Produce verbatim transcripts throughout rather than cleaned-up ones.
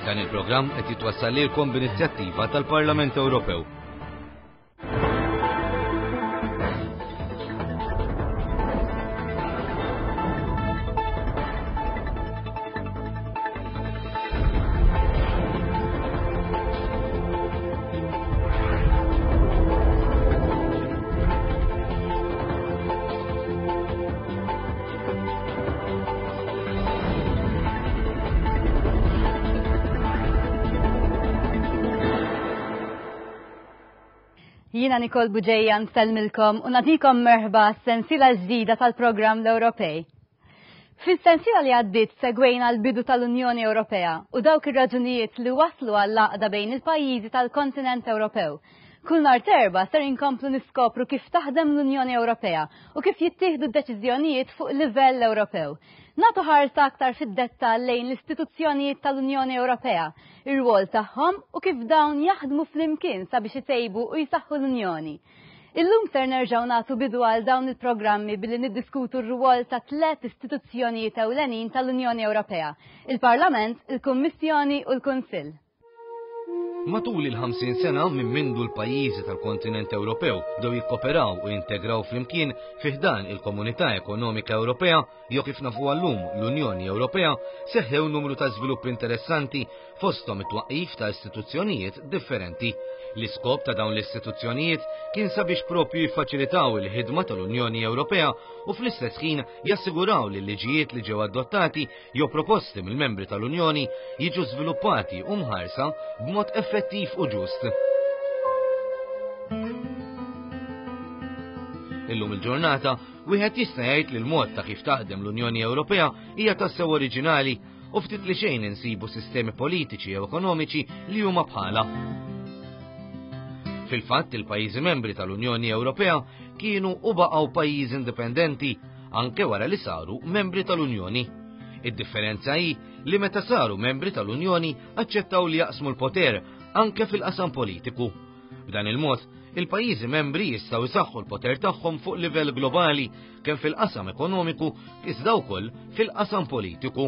Dan il-programm qed jitwassal lilkom b'inizjattiva tal-Parlament Ewropew. Jiena Nicole Bugeja nsellmilkom u nagħtikom merħba sensiela ġdida tal-programm l-Ewropej. Fis-sensiela li għaddiet segwejna l-bidu tal-Unjoni Ewropea u dawk ir-raġunijiet li waslu għall-għaqda bejn il-pajjiżi tal-kontinent Ewropew. Kull nhar t'Erbgħa ser inkomplu niskopru kif taħdem l-Unjoni Ewropea u kif jittieħdu d-deċiżjonijiet fuq livell Ewropew. Nagħtu ħarsa aktar fid-dettall lejn l-istituzzjonijiet tal-Unjoni Ewropea, ir-rwol tagħhom u kif dawn jaħdmu flimkien sabiex itejbu u jsaħħu l-Unjoni. Illum ser nerġgħu nagħtu bidu għal dawn il-programmi billi niddiskutu r-rwol ta' tliet istituzzjonijiet ewlenin tal-Unjoni Ewropea, il-Parlament, il-Kummissjoni u l-Kunsill. Matul il-ħamsin sena minn mindu l-pajjiżi tal-kontinent Ewropew bdew jikkoperaw u jintegraw flimkien fi ħdan il-Komunità Ekonomika Ewropea, jew kif nafuha llum l-Unjoni Ewropea, seħħew numru ta' żviluppi interessanti fosthom it-twaqqif ta' istituzzjonijiet differenti. L-iskop ta' dawn l-istituzzjonijiet kien sabiex propju jiffaċilitaw il-ħidma tal-Unjoni Ewropea u fl-istess ħin jassiguraw li l-liġijiet li ġew adottati jew proposti mill-membri tal-Unjoni jiġu żviluppati u mħarsa b'mod effettiv u ġust. Illum il-ġurnata, wieħed jista' jgħid li l-mod ta' kif taħdem l-Unjoni Ewropea hija tassew oriġinali u ftit li xejn insibu sistemi politiċi jew ekonomiċi li huma bħala. Fil-fatt, il-pajjiżi membri tal-Unjoni Ewropea kienu u baqgħu pajjiżi indipendenti anke wara li saru membri tal-Unjoni. Id-differenza hi li meta saru membri tal-Unjoni aċċettaw li jaqsmu l-poter anke fil-qasam politiku. B'dan il-mod, il-pajjiżi membri jistgħu jsaħħu l-poter tagħhom fuq livell globali kemm fil-qasam ekonomiku iżda wkoll fil-qasam politiku.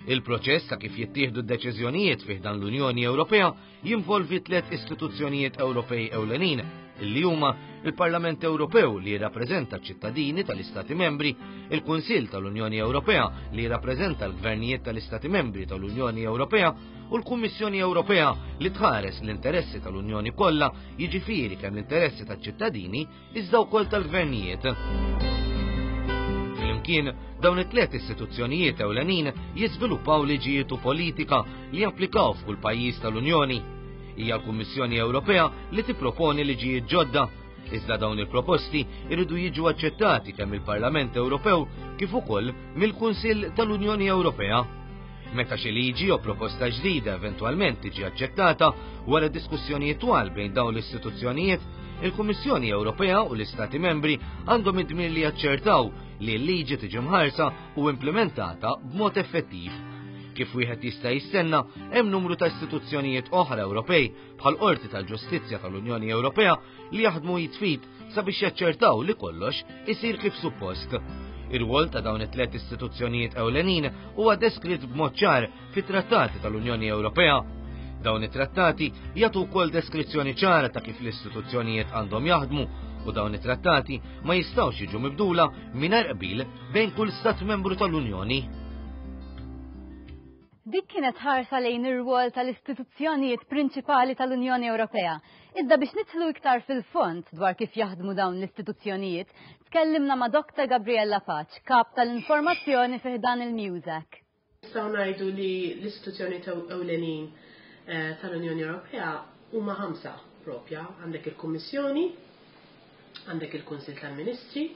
Il-proċess ta' kif jittieħdu d-deċiżjonijiet fi ħdan l-Unjoni Ewropea jinvolvi tliet istituzzjonijiet Ewropej ewlenin, illi huma il-Parlament Ewropew li jirrappreżenta ċ-ċittadini tal-Istati Membri, il-Kunsill tal-Unjoni Ewropea li jirrappreżenta l-gvernijiet tal-Istati Membri tal-Unjoni Ewropea u l-Kummissjoni Ewropea li tħares l-interessi tal-Unjoni kollha, jiġifieri kemm l-interessi taċ-ċittadini iżda wkoll tal-gvernijiet. Flimkien, dawn it-tliet istituzzjonijiet ewlenin jiżviluppaw liġijiet u politika li japplikaw f'kull pajjiż tal-Unjoni. Hija l-Kummissjoni Ewropea li tipproponi liġijiet ġodda, iżda dawn il-proposti jridu jiġu aċċettati kemm il-Parlament Ewropew kif ukoll mill-Kunsill tal-Unjoni Ewropea. Meta xi liġi jew proposta ġdida eventwalment tiġi aċċettata wara diskussjonijiet twal bejn dawn l-istituzzjonijiet, il-Kummissjoni Ewropea u l-Istati Membri għandhom id-dmir li jaċċertaw li l-liġi tiġi mħarsa u implementata b'mod effettiv. Kif wieħed jista' jistenna, hemm numru ta' istituzzjonijiet oħra Ewropej bħal Qorti tal-Ġustizzja tal-Unjoni Ewropea li jaħdmu jitfit sabiex jaċċertaw li kollox isir kif suppost. Ir-rwol ta' dawn it-tliet istituzzjonijiet ewlenin huwa deskritt b'mod ċar fit-trattati tal-Unjoni Ewropea. Dawn it-trattati jagħtu wkoll deskrizzjoni ċara ta' kif l-istituzzjonijiet għandhom jaħdmu u dawn it-trattati ma jistgħux jiġu mibdula mingħajr qbil bejn kull stat membru tal-Unjoni. Dik kienet ħarsa lejn ir-rwol tal-istituzzjonijiet prinċipali tal-Unjoni Ewropea. Iżda biex nidħlu iktar fil-fond dwar kif jaħdmu dawn l-istituzzjonijiet, tkellimna ma' Doktor Gabriella Pace, kap tal-informazzjoni fi ħdan il-MEUSAC. Nistgħu ngħidu li l-istituzzjonijiet ewlenin eh, tal-Unjoni Ewropea huma ħamsa propja. Għandek il-Kummissjoni, għandek il-Kunsill tal-Ministri,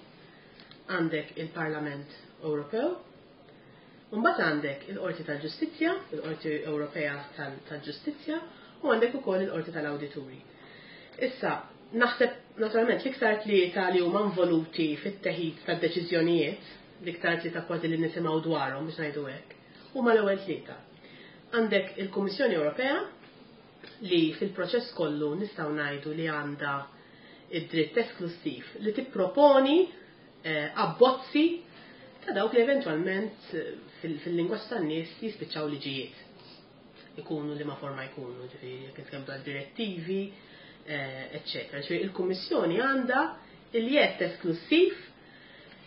għandek il-Parlament Ewropew, mbagħad għandek il-Qorti tal-Ġustizzja, il-Qorti Ewropea tal-Ġustizzja, u għandek ukoll il-Qorti tal-Awdituri. Issa, naħseb naturalment l-iktar tlieta li huma involuti fit-teħid tad-deċiżjonijiet, l-iktar tlieta kważi li nisimgħu dwarhom biex ngħidu hekk, huma l-ewwel tlieta. Għandek il-Kummissjoni Ewropea li fil-proċess kollu nistgħu ngħidu li għandha id-dritt esklusiv li tipproponi, eh, abbozzi ta' dawk li eventwalment, eh, fil-lingwaġġ tan-nies jispiċċaw liġijiet. Ikunu li ma forma jkunu, ġifieri jekk nitkellmu dwar direttivi, eċċetera. Ġifieri il-Kummissjoni għandha il-jedd esklussiv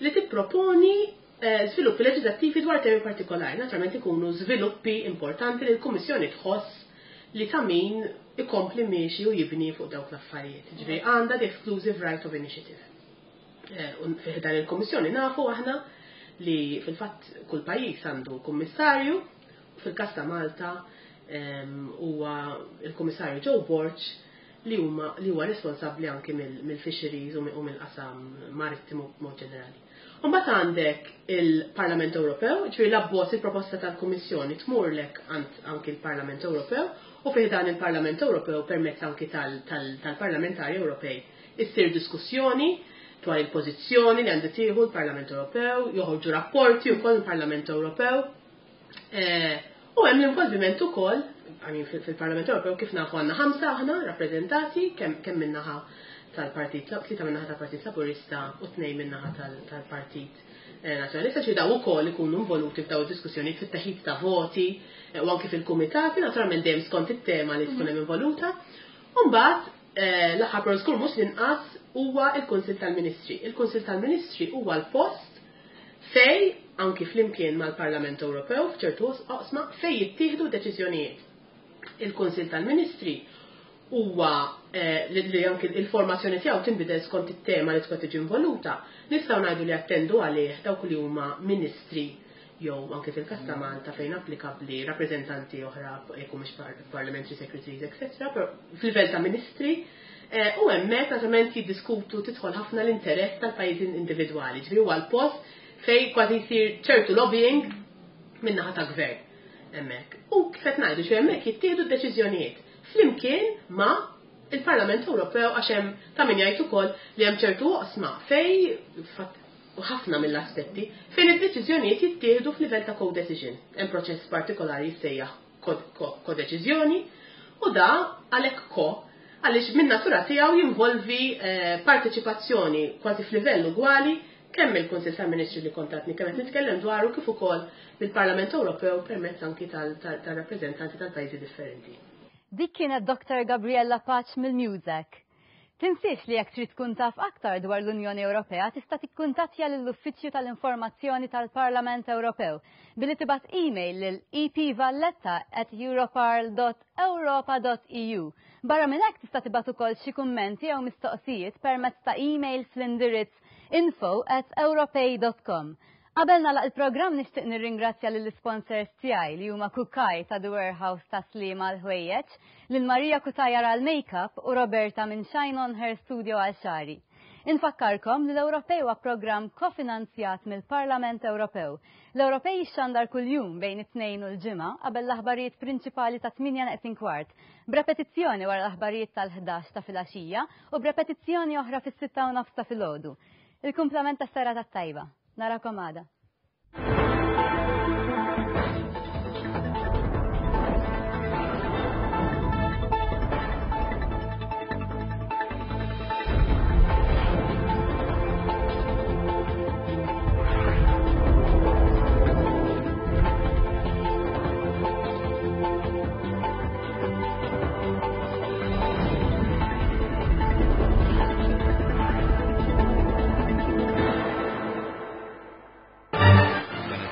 li tipproponi żviluppi leġislattivi dwar temi partikolari. Naturalment ikunu żviluppi importanti li l-Kummissjoni tħoss li ta' min ikompli miexi u jibni fuq dawk l-affarijiet. Ġifieri għandha the exclusive right of initiative. Fi dan il-Kummissjoni nafu aħna li fil-fatt kull pajjiż għandu kummissarju, fil-każ ta' Malta huwa il-Kummissarju Joe Borg li huma li huwa responsabbli anki mill-fisheries u mill-qasam marittimu b'mod ġenerali. Mbagħad għandek il-Parlament Ewropew, ġifieri l-abbozz il-proposta tal-Kummissjoni tmurlek anki l-Parlament Ewropew u fih dan il-Parlament Ewropew permezz anki tal-Parlamentari Ewropej issir diskussjoni dwar il-pożizzjoni li għandu tieħu l-Parlament Ewropew, joħorġu rapporti wkoll il-Parlament Ewropew. U hemm l-involviment ukoll, fil-Parlament Ewropew kif nafu għandna ħamsa aħna rappreżentati kemm min-naħa tal-Partit, tlieta min-naħa tal-Partit Laburista u tnejn min-naħa tal-Partit Nazzjonalista, ġifieri daw ukoll ikunu involuti f'daw id-diskussjonijiet fit-teħid ta' voti u anki fil-kumitati, naturalment dejjem skont it-tema li tkun hemm involuta. U mbagħad l-aħħar però żgur mhux l-inqas huwa l-Kunsill tal-Ministri. Il-Kunsill tal-Ministri huwa l-post fej anki flimkien mal-Parlament Ewropew f'ċertu oqsma fej jittieħdu deċiżjonijiet. Il-Kunsill tal-Ministri huwa li anki il-formazzjoni tiegħu tinbidel skont it-tema li tkun tiġi involuta, nistgħu ngħidu li attendu għalih dawk li huma ministri jew anke fil-każ ta' Malta fejn applikabbli rappreżentanti oħra jekk mhux parliamentary secretaries, et cetera, fil-livell ta' ministri, u hemmhekk naturalment jiddiskutu, tidħol ħafna l-interess tal-pajjiżi individwali, ġifieri huwa l-post fej kważi jsir ċertu lobbying min-naħa ta' gvern hemmhekk. U kif qed ngħidu, xi hemmhekk jittieħdu d-deċiżjonijiet flimkien ma' il-Parlament Ewropew, għax hemm ta' min jgħid ukoll li hemm ċertu oqsma fej u ħafna mill-aspetti fejn id-deċiżjonijiet jittieħdu f'livell ta' co-decision. Hemm proċess partikolari jissejjaħ kodeċiżjoni u da għalhekk ko għaliex minn natura tiegħu jinvolvi parteċipazzjoni kważi f'livell ugwali kemm il-Kunsill tal-Ministri li kontatni kemm qed nitkellem dwaru kif ukoll mill-Parlament Ewropew permezz anki tal-rappreżentanti tal-pajjiżi differenti. Dik kienet Doktor Gabriella Pace mill-MUSEC. Tinsiex li jekk trid tkun taf aktar dwar l-Unjoni Ewropea tista' tikkuntattja lill-Uffiċċju tal-Informazzjoni tal-Parlament Ewropew billi tibgħat email lil e p valletta at europarl dot europa dot e u. Barra minn hekk tista' tibgħat ukoll xi kummenti jew mistoqsijiet permezz ta' email fl-indirizz info at europej dot com. Qabel nagħlaq il-programm nixtieq nirringrazzja lill-sponsors tiegħi li huma Kukaj ta' The Warehouse ta' Sliema għal ħwejjeġ, lil Maria Cutajar għal makeup u Roberta minn Shine On Hair Studio għal xagħri. Infakkarkom li l-Ewropej huwa programm kofinanzjat mill-Parlament Ewropew. L-Ewropej jixxandar kuljum bejn it-Tnejn u l-Ġimgħa qabel l-aħbarijiet prinċipali ta' tmienja neqsin kwart, b'repetizzjoni wara l-aħbarijiet tal-ħdax ta' filgħaxija u b'repetizzjoni oħra fis-sitta u nofs ta' filgħodu. Il-kumplament tas-serata tajba. Narakom għada.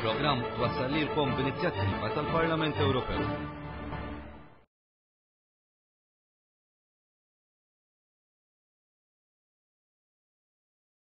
Programm twassal lilkom b'inizjattiva tal-Parlament Ewropew.